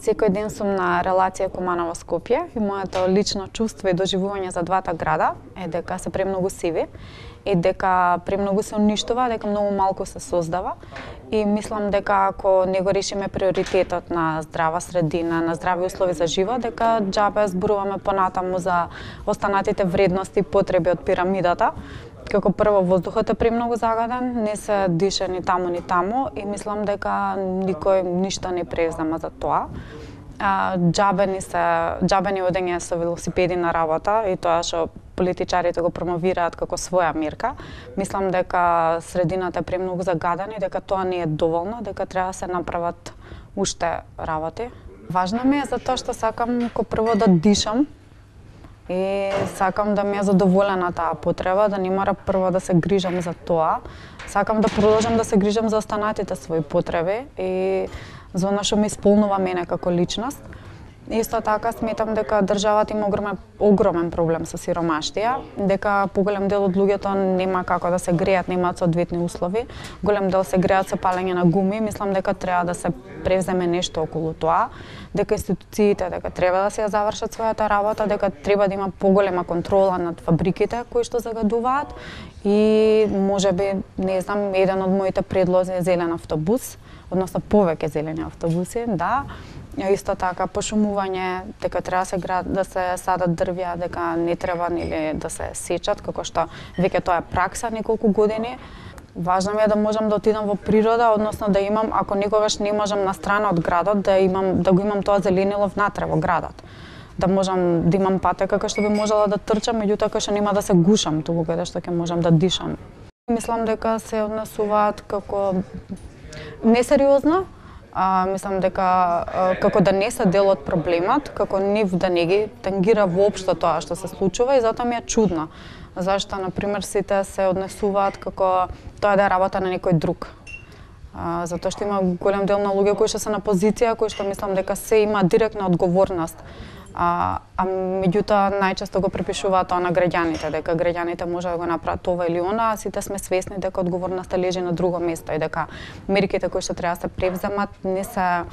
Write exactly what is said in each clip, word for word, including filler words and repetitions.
Секој ден сум на релација Куманово Скопје и моето лично чувство и доживување за двата града е дека се премногу сиви и дека премногу се уништува, дека многу малку се создава и мислам дека ако не го решиме приоритетот на здрава средина, на здрави услови за живот, дека џабе зборуваме понатаму за останатите вредности и потреби од пирамидата. Како прво, воздухот е премногу загаден, не се диша ни таму ни таму и мислам дека никој ништо не презема за тоа. А, џабе ни се, џабе ни одење со велосипеди на работа и тоа што политичарите го промовираат како своја мерка. Мислам дека средината е премногу загадена и дека тоа не е доволно, дека треба да се направат уште работи. Важно ми е затоа што сакам ко прво да дишам и сакам да ми е задоволена таа потреба, да не мора прво да се грижам за тоа. Сакам да продолжам да се грижам за останатите своји потреби и за она што ме исполнува мене како личност. Исто така сметам дека државата има огромен, огромен проблем со сиромаштија, дека поголем дел од луѓето нема како да се греат, немаат соодветни услови. Голем дел се греат со палење на гуми, мислам дека треба да се превземе нешто околу тоа, дека институциите дека треба да се ја завршат својата работа, дека треба да има поголема контрола над фабриките кои што загадуваат и можеби, не знам, еден од моите предлози е зелен автобус, односно повеќе зелени автобуси, да. Исто така пошумување, дека треба се град, да се садат дрвја, дека не треба нели да се сечат, како што веќе тоа е пракса неколку години. Важно ми е да можам да отидам во природа, односно да имам, ако никогаш не можам на страна од градот, да имам да го имам тоа зеленило внатре во градот. Да можам да имам патека кај што би можела да трчам, меѓутоа кај што нема да се гушам, туку каде што ќе можам да дишам. Мислам дека се однесуваат како несериозно. А, мислам дека а, како да не се дел од проблемот, како нив да не ги тангира воопшто тоа што се случува и затоа ми е чудно. Зашто, например, сите се однесуваат како тоа да е работа на некој друг. А, затоа што има голем дел на луѓе кои што се на позиција, кои што мислам дека се има директна одговорност. А, а меѓутоа најчесто го припишуваат тоа на граѓаните, дека граѓаните може да го направат ова или она, а сите сме свесни дека одговорноста лежи на друго место и дека мерките кои што треба да се превземат не се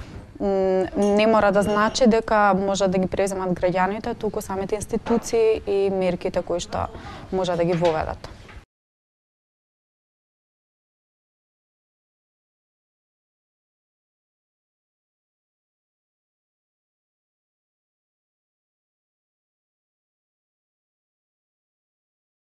не мора да значи дека може да ги превземат граѓаните, туку самите институции и мерките кои што може да ги воведат.